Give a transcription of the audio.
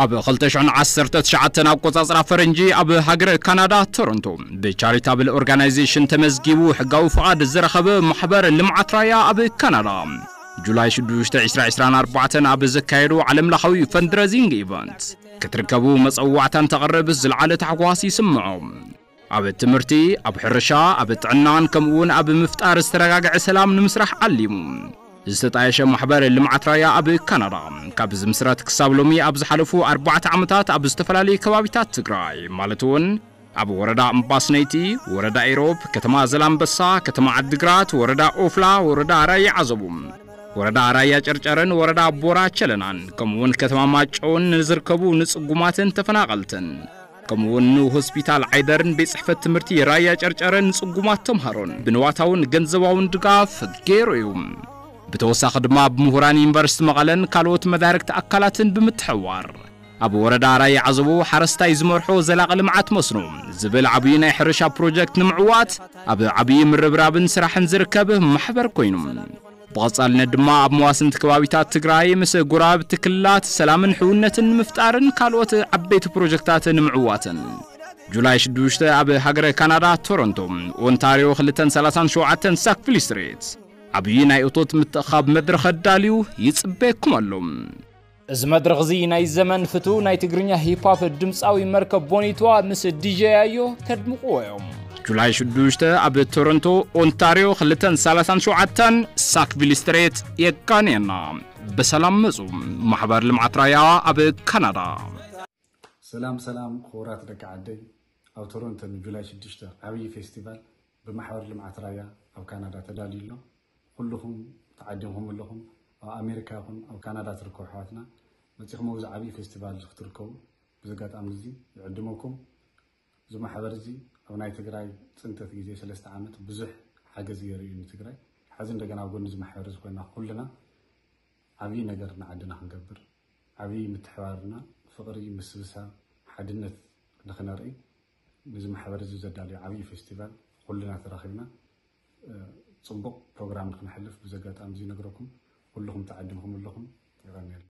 ኣብ ክልተ ሽሕን ዓሰርተ ትሽዓተን ኣቆጻጽራ ፈረንጂ ኣብ ሃገረ ካናዳ ቶሮንቶ ብቻሪታብል ኦርጋናይዜሽን ተመዝጊቡ ሕጋዊ ፍቓድ ዝረኸበ ማሕበር ልምዓት ራያ ኣብ ካናዳ ጁላይ ሽዱሽተ ዕስራ ዕስራን ኣርባዕተን ኣብ ዘካየዶ ዓለምለኻዊ ፈንድረዚንግ ኢቨንት ክትርከቡ መጸዋዕታን ተቕርብ ዝለዓለ ታሕጓስ ይስምዖ። ኣብ ትምህርቲ፣ ኣብ ሕርሻ፣ ኣብ ጥዕናን ከምኡውን ኣብ ምፍጣር ዝተረጋግዐ ሰላም ንምስራሕ ዓሊሙ ዝተጣየሸ ማሕበር ልምዓት ራያ ኣብ ካናዳ ካብ ዝምስረት ክሳብ ሎሚ ኣብ ዝሓለፉ ኣርባዕተ ዓመታት ኣብ ዝተፈላለዩ ከባቢታት ትግራይ ማለት እውን ኣብ ወረዳ እምባስነይቲ፣ ወረዳ ኢሮብ፣ ከተማ ዘላምበሳ፣ ከተማ ዓድግራት፣ ወረዳ ኦፍላ፣ ወረዳ ራያ ዓዘቡ፣ ወረዳ ራያ ጨርጨርን ወረዳ ቦራ ቸለናን ከምኡውን ከተማ ማጨውን ንዝርከቡ ንጽጉማትን ተፈናቐልትን ከምኡውን ንሆስፒታል ዓይደርን ቤት ጽሕፈት ትምህርቲ ራያ ጨርጨርን ንጽጉማት ተምሃሮን ብንዋታውን ገንዘባውን ድጋፍ ገይሩ እዩ። ብተወሳኺ ድማ ብምሁራን ዩኒቨርሲቲ መቐለን ካልኦት መዳርግቲ ኣካላትን ብምትሕዋር ኣብ ወረዳ ራያ ዓዘቦ ሓረስታይ ዝመርሖ ዘላቒ ልምዓት መስኖ ዝብል ዓብዪ ናይ ሕርሻ ፕሮጀክት ንምዕዋት ኣብ ዓብዪ ምርብራብን ስራሕን ዝርከብ ማሕበር ኮይኑ ብቐጻልነት ድማ ኣብ መዋስንቲ ከባቢታት ትግራይ ምስ ጎረባብቲ ክልላት ሰላምን ሕውነትን ንምፍጣርን ካልኦት ዓበይቲ ፕሮጀክታት ንምዕዋትን ጁላይ ሽዱሽተ ኣብ ሃገረ ካናዳ ቶሮንቶ ኦንታሪዮ ክልተን ሰላሳን ሸውዓተን ሳክቪል ስትሪት ዓብዪ ናይ እቶት ምትእኻብ መድረኽ ኣዳልዩ ይጽበየኩም ኣሎ። እዚ መድረኽ እዚ ናይ ዘመን ፍቱ ናይ ትግርኛ ሂፕ ሆፕ ድምፃዊ መርከብ ቦኒትዋ ምስ ዲጀ ያዮ ከድምቕዎ እዮም። ጁላይ ሽዱሽተ ኣብ ቶሮንቶ ኦንታሪዮ ክልተን ሰላሳን ሸውዓተን ሳክቪል ስትሬት የቃንየና። ብሰላም መጹ። ማሕበር ልምዓት ራያ ኣብ ካናዳ። ሰላም ሰላም ክቡራት ደቂ ዓደይ፣ ኣብ ቶሮንቶ ንጁላይ ሽዱሽተ ዓብዪ ፌስቲቫል ብማሕበር ልምዓት ራያ ኣብ ካናዳ ተዳልዩ ኣሎ። ኩልኹም ተዓዲምኩም ኣለኹም። ኣብ ኣሜሪካ ይኹን ኣብ ካናዳ ትርከቡ ኣሕዋትና መፂኹም ኣብዚ ዓብዪ ፌስቲቫል እዚ ክትርከቡ ብዚ ኣጋጣሚ እዚ ይዕድመኩም። እዚ ማሕበር እዚ ኣብ ናይ ትግራይ ፅንተት ግዜ ሰለስተ ዓመት ብዙሕ ሓገዝ ገይሩ እዩ ንትግራይ። ሕዚ እንደገና ኣብ ጎኒ እዚ ማሕበር እዚ ኮይና ኩልና ዓብዪ ነገር ንዓድና ክንገብር፣ ዓብዪ ምትሕባርና፣ ፍቕሪ፣ ምስብሳብ፣ ሓድነት ንኽነርኢ ነዚ ማሕበር እዚ ዘዳልዮ ዓብዪ ፌስቲቫል ኩልና ተራኺብና ፅቡቕ ፕሮግራም ንክነሕልፍ ብዚ ኣጋጣሚ እዚ ይነግረኩም። ኩልኹም ተዓዲምኩም ኣለኹም። የቐንየልና።